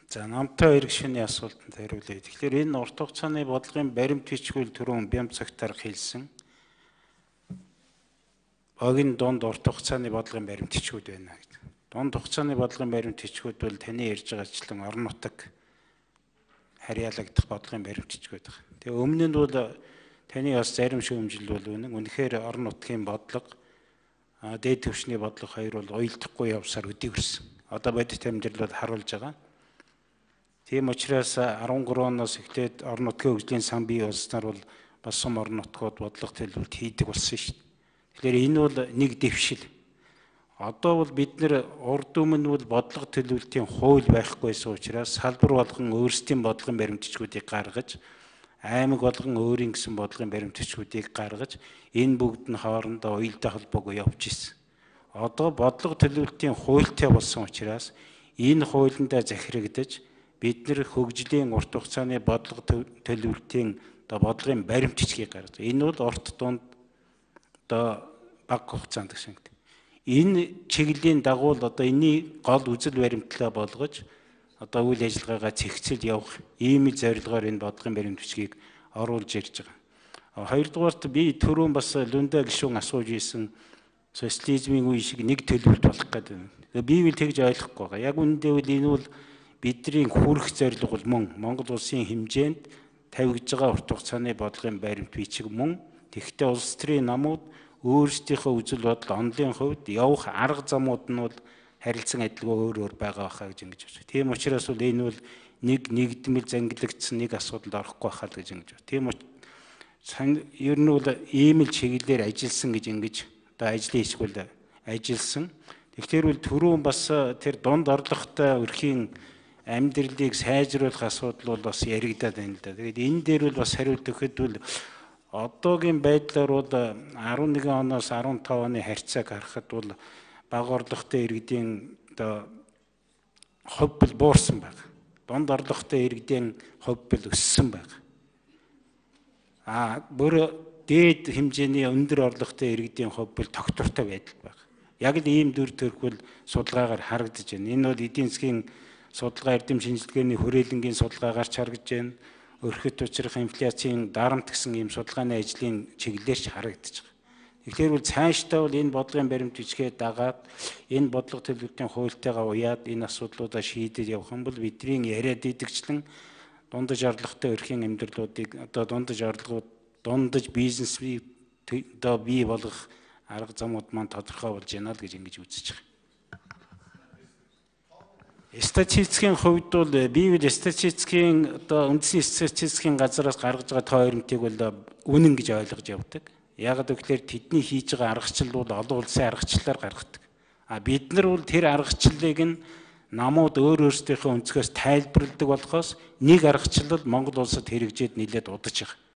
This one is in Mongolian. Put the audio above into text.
За намтай хоёр гишүүний асуултанд хариулъя. Тэгэхээр энэ урт хугацааны бодлогын баримт бичгүүл түрүүн Бямцагтар хэлсэн. Огийн дунд урт хугацааны бодлогын баримт бичгүүд байна гэдэг. Дунд хугацааны бодлогын баримт бичгүүд бол таны ярьж байгаачлан орон нутаг харьяалагдах бодлогын баримт бичгүүд байна. Тэгээ өмнө нь бол таны бас зарим шүүмжил бол үнэн. Үнэхээр орон нутгийн бодлого, дээд түвшний бодлого хоёр бол уйлдахгүй явсаар өдөрсөн. Одоо бодит амьдрал бол харуулж байгаа. Тийм учраас 13 оноос эхлээд орон нутгийн хөгжлийн сан бий болсноор бол бас сум орон нутгууд бодлого төлөвлөлт хийдэг болсон шүү дээ. Тэгэхээр энэ бол нэг дэвшил. Одоо бол бид нэр урд өмнө бол бодлого төлөвлөлтийн хууль байхгүйсэн учраас салбар болгон өөрсдийн бодлогын баримтчгуудыг гаргаж, аймаг болгон өөрийн гэсэн бодлогын баримтчгуудыг гаргаж, энэ бүгд нь хоорондоо уялдаа холбоогүй явж ирсэн. Одоо бодлого төлөвлөлтийн хуультай болсон учраас энэ хуулиндаа захирагдаж бид нэр хөгжлийн урт хугацааны бодлого төлөвлөлтийн бодлогын баримт бичгийг гаргаж. Энэ бол урт дунд бага хугацаанд гэсэн үг. Энэ чиглэлийн дагуу одоо энэний гол үзэл баримтлаа болгож одоо үйл ажиллагаагаа цэгцэл явах ийм л зорилгоор энэ бодлогын баримт бичгийг оруулж ирж байгаа. Хоёрдугаарт би түрүүн бас Лүндэ гишүүн асууж ийсэн социализмын үе шиг нэг төлөвлөлт болох гэдэг. Би бол тэгж ойлгохгүй байгаа. Яг үүндээ бол энэ бол бидний хүрэх зорилго бол мөн Монгол улсын хэмжээнд тавигдж байгаа урт хугацааны бодлогын баримт бичиг мөн. Тэгэхдээ улс төрийн намууд өөрсдийнхөө үзэл бодол онлын хувьд явах арга замууд нь бол харилцан адилгүй өөр байгаа байхаа гэж ингэж байна. Тийм учраас бол энэ бол нэг нэгдмэл зангилагдсан нэг асуудалд орохгүй байхаа гэж ингэж байна. Тийм ер нь бол ийм л чиглэлээр ажилласан гэж ингэж одоо ажлын хэсгүүл ажилласан. Тэгэхээр бол түрүүн бас тэр дунд орлоготой өрхийн амьдралыг сайжруулах асуудал бол бас яригадаад байна л да. Тэгээд энэ дээр бол бас хариулт өгөхөд бол одоогийн байдлаар бол 11 оноос 15 оны харьцааг харахад бол бага орлоготой иргэдийн одоо хувь бол буурсан байна. Дунд орлоготой иргэдийн хувь бол өссөн байна. Бүр дээд хэмжээний өндөр орлоготой иргэдийн хувь бол тогтвортой байдал байна. Яг л ийм дүр төрх бол судалгаагаар харагдаж байна. Энэ бол эдийн засгийн судалгаа эрдэм шинжилгээний хүрээлэнгийн судалгаагаар харагдж байна. Өрхөд учрах инфляцийн дарамт гэсэн ийм судалгааны ажлын чиглэлээр харагдаж байгаа. Тэгэхээр бол цаашдаа бол энэ бодлогын баримт бичгээ дагаад энэ бодлого төлөвлөлтийн хуультайгаа уяад энэ асуудлуудаа шийдэж явах юм бол бидний яриад идэгчлэн дундаж орлоготой өрхийн амьдралуудыг одоо дундаж бизнес бий болгох арга замууд маань тодорхой болж байна л гэж ингэж үзэж байгаа. Статистикийн хувьд бол би статистикийн одоо үндэсний статистикийн газараас гаргаж байгаа тоо баримтыг бол үнэн гэж ойлгож явдаг. Яг гэвэл тэдний хийж байгаа аргачлал бол олон улсын аргачлалаар гаргадаг. Бид нар бол тэр аргачлалыг нь намууд өөрсдийнхөө өнцгөөс тайлбарладаг болохоос нэг аргачлал Монгол улсад хэрэгжээд нэлээд удаж байгаа.